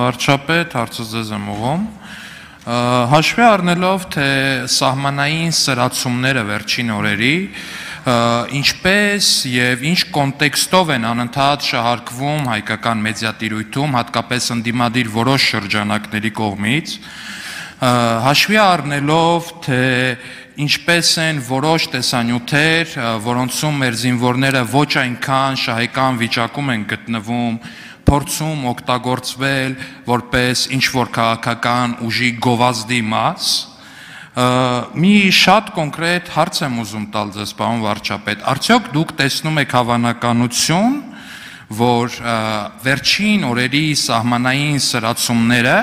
վարչապետ, հարցը ձեզ եմ ուղղում։ Հաշվի առնելով, թե սահմանային սրացումները վերջին օրերի, ինչպես եւ ինչ կոնտեքստով են անընդհատ շահարկվում հայկական մեդիատիրույթում, հատկապես ընդդիմադիր որոշ շրջանակների կողմից, հաշվի առնելով, թե ինչպես են որոշ տեսանյութեր, որոնցում մեր զինվորները ոչ այնքան շահեկան վիճակում են գտնվում, փորձում օգտագործվել որպես ինչ-որ քաղաքական ուժի գովազդի մաս, մի շատ կոնկրետ հարց եմ ուզում տալ ձեզ, պարոն վարչապետ, արդյոք դուք տեսնում եք հավանականություն, որ վերջին օրերի սահմանային սրացումները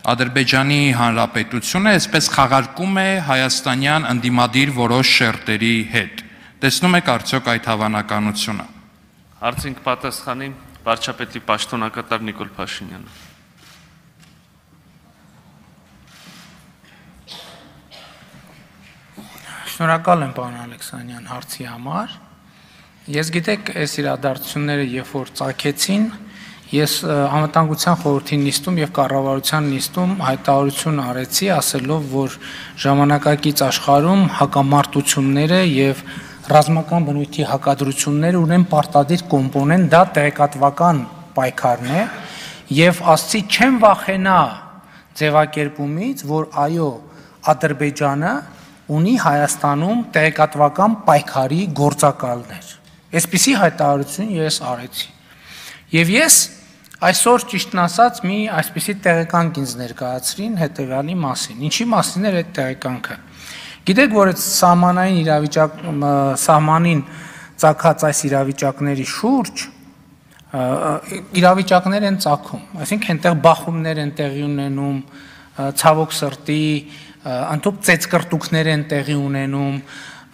Ադրբեջանի Հանրապետությունը այսպես խաղարկում է հայաստանյան ընդդիմադիր որոշ շերտերի հետ։ Տեսնում եք արդյոք այդ հավանականությունը։ Հարցին կպատասխանի վարչապետի պաշտոնակատար Նիկոլ Փաշինյանը։ Շնորհակալ եմ, պարոն Ալեքսանյան, հարցի համար։ Ես գիտեք, այս իրադարձությունները երբ որ ծագեցին, ես անվտանգության խորհրդի նիստում եւ կառավարության նիստում հայտարարություն արեցի, ասելով, որ ժամանակակից աշխարհում հակամարտությունները եւ ռազմական բնույթի հակադրությունները ունեն պարտադիր կոմպոնենտ, դա տեղեկատվական պայքարն է եւ ասացի չեմ վախենա ձևակերպումից, որ այո, Ադրբեջանը ունի Հայաստանում տեղեկատվական պայքարի գործակալներ։ Այսպիսի հայտարարություն ես արեցի։ Եվ ես այսօր ճիշտն ասած մի այսպիսի տեղեկանք ինձ ներկայացրին հետևյալի մասին։ Ինչի մասին էր այդ տեղեկանքը։ Գիտեք, որ այդ սահմանին ծագած այս իրավիճակների շուրջ իրավիճակներ են ծագում, այսինքն այնտեղ բախումներ են տեղի ունենում, ցավոք սրտի, ընդհանուր ծեծկրտուքներ են տեղի ունենում,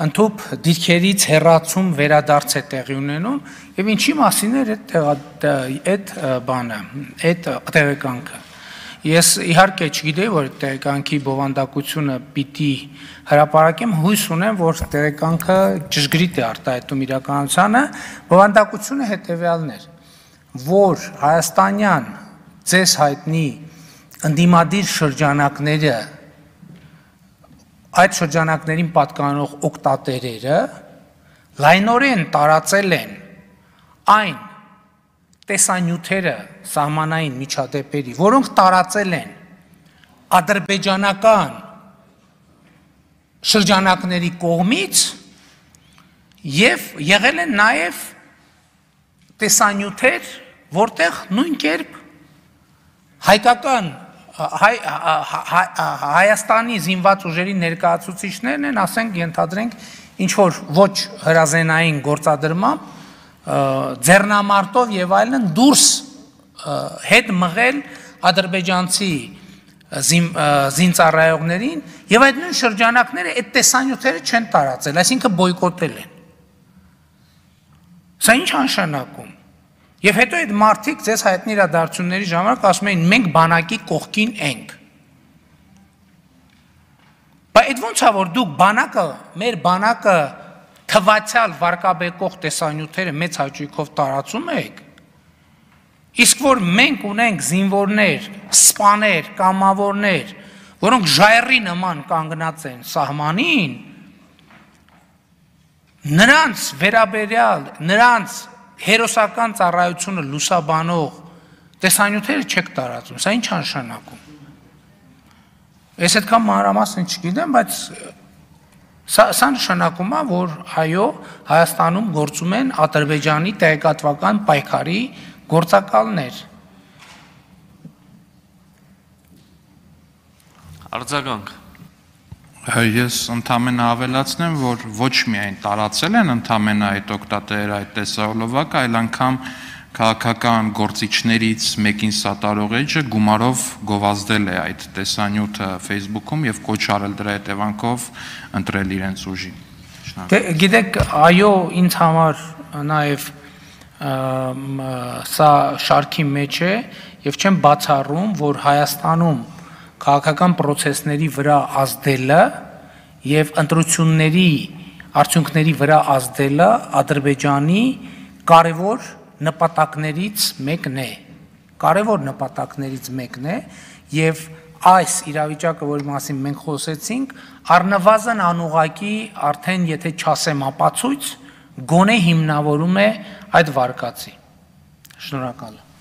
ընդհուպ դիրքերից հեռացում վերադարձ է տեղի ունենում եւ ինչի մասին էր այդ բանը, այդ տեղեկանքը։ Ես իհարկե չգիտեի, որ տեղեկանքի բովանդակությունը պիտի հրապարակեմ, հույս ունեմ, որ տեղեկանքը ճշգրիտ է արտահայտում իրականությանը, բովանդակությունը հետեւյալն էր, որ հայաստանյան ձեզ հայտնի ընդդիմադիր շրջանակները այդ շրջանակներին պատկանող օգտատերերը լայնորեն տարածել են այն տեսանյութերը սահմանային միջադեպերի, որոնք տարածել են ադրբեջանական շրջանակների կողմից եւ եղել են նաեւ տեսանյութեր, որտեղ նույն կերպ հայկական Հայաստանի զինված ուժերի ներկայացուցիչներն են, ասենք, ենթադրենք, ինչ-որ ոչ հրազենային գործադրմամբ, ձեռնամարտով եւ այլն դուրս հետ մղել ադրբեջանցի զինծառայողներին եւ այդ նույն շրջանակները այդ տեսանյութերը չեն տարածել, այսինքն բոյկոտել են։ Սա ինչ նշանակում։ Եվ հետո այդ մարդիկ ձեզ հայտնի իրադարձությունների ժամանակ ասում էին մենք բանակի կողքին ենք։ Բայց այդ ոնց է որ դուք բանակը, մեր բանակը թվացial վարկաբեկող տեսանյութերը մեծ հաճույքով տարածում եք, իսկ որ մենք ունենք զինվորներ, սպաներ, կամավորներ, որոնք ժայռի նման կանգնած են սահմանին, նրանց վերաբերյալ, նրանց հերոսական ծառայությունը լուսաբանող տեսանյութերը չեք տարածում, սա ինչ նշանակում։ Ես այդքան մանրամասն չգիտեմ, բայց սա նշանակում է, որ այո, Հայաստանում գործում են Ադրբեջանի տեղեկատվական պայքարի գործակալներ։ Արձագանք։ Ես ընդամենը ավելացնեմ, որ ոչ միայն տարածել են ընդամենը այդ օգտատերերը այդ տեսահոլովակը, այլ անգամ քաղաքական գործիչներից մեկին սատարող էջը գումարով գովազդել է այդ տեսանյութը Facebook-ում եւ կոչ արել դրա հետևանքով ընտրել իրենց ուժին։ Գիտեք, այո, ինձ համար նաեւ սա շարքի մեջ է եւ չեմ բացառում, որ Հայաստանում քաղաքական process-ների վրա ազդելը եւ ընտրությունների արդյունքների վրա ազդելը Ադրբեջանի կարևոր նպատակներից մեկն է, կարևոր նպատակներից մեկն է եւ այս իրավիճակը, որի մասին մենք խոսեցինք, առնվազն անուղակի արդեն եթե չասեմ ապացույց, գոնե հիմնավորում է այդ վարկածի։ Շնորհակալ եմ։